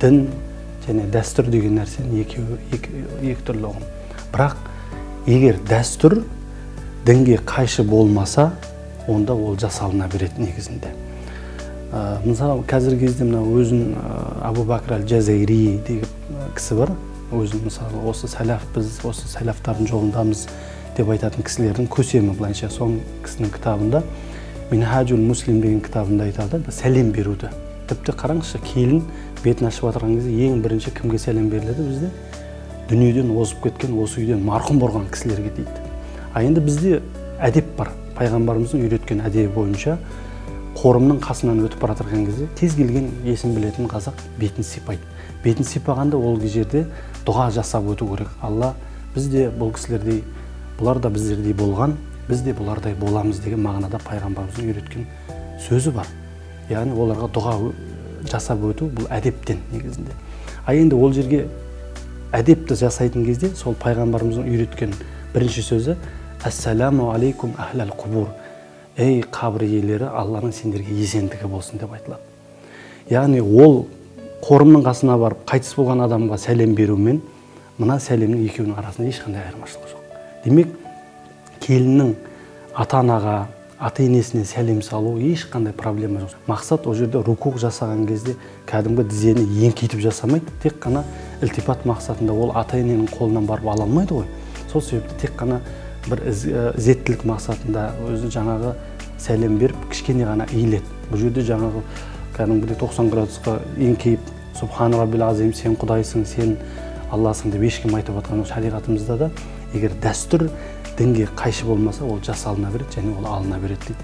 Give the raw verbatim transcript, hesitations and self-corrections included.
дин және дәстүр деген нәрсенин экөө эки түрлүү ұғым. Бірақ егер дәстүр дінге қайшы болмаса, онда ол жасалына береді негізінде. Мысалы, қазіргі кезде мына өзін Абу Бакр аль-Джазайри деген кісі бар. Өзін мысалы осы сәләф, біз осы сәләфтардың жолындамыз деп айтатын кісілердің көсемі былайша. Соның кісінің кітабында Минхажул Муслим деген кітабында айтады, сәлем беруді. Тіпті қараңызшы, келін бетін ашып отырған кезде ең бірінші кімге сәлем беріледі бізде? Дүниеден озып кеткен, осы үйден марқұм болған кісілерге дейді. А енді бізде әдеп бар. Пайғамбарымыздың үйреткен әдебі бойынша қорымның қасынан өтіп бара жатқан кезде тез келген есін білетін қазақ бетін сипайды. Бетін сипағанда ол жерде дұға жасап өту керек. Алла, біз де бұл кісілердей, бұлар да біздердей болған, біз де бұлардай боламыз деген мағынада пайғамбарымыздың үйреткен сөзі бар. Яғни оларға дұға жасап өту бұл әдептен негізінде. А енді ол жерге әдепті жасайтын кезде сол пайғамбарымыздың үйреткен бірінші сөзі «Ассаламу алейкум ахлал қубур». Ей қабір иелері, Алланың сендерге есендігі болсын деп айтылады. Яғни ол қорымның қасына барып қайтыс болған адамға сәлем берумен мына сәлемнің екеуінің арасында ешқандай айырмашылық жоқ. Демек, келіннің ата-анаға, ата-енесіне сәлем салу ешқандай проблема жоқ. Мақсат ол жерде рукук жасаған кезде кәдімгі тізені еңкейтіп жасамайды, тек қана ілтипат мақсатында ол ата-ененің қолынан барып ала алмайды ғой. Сол себепті тек қана бір ізеттілік мақсатында өзі жаңағы сәлем беріп, кішкене ғана иіледі. Бұл жерде жаңағы кәдімгідей тоқсан градусқа еңкейіп, Субхан Раббил Азим, сен Құдайсың, сен Алласың деп ешкім айтып жатқан шариғатымызда да, егер дәстүр дінге қайшы болмаса, ол жасалына береді және ол алына береді дейді.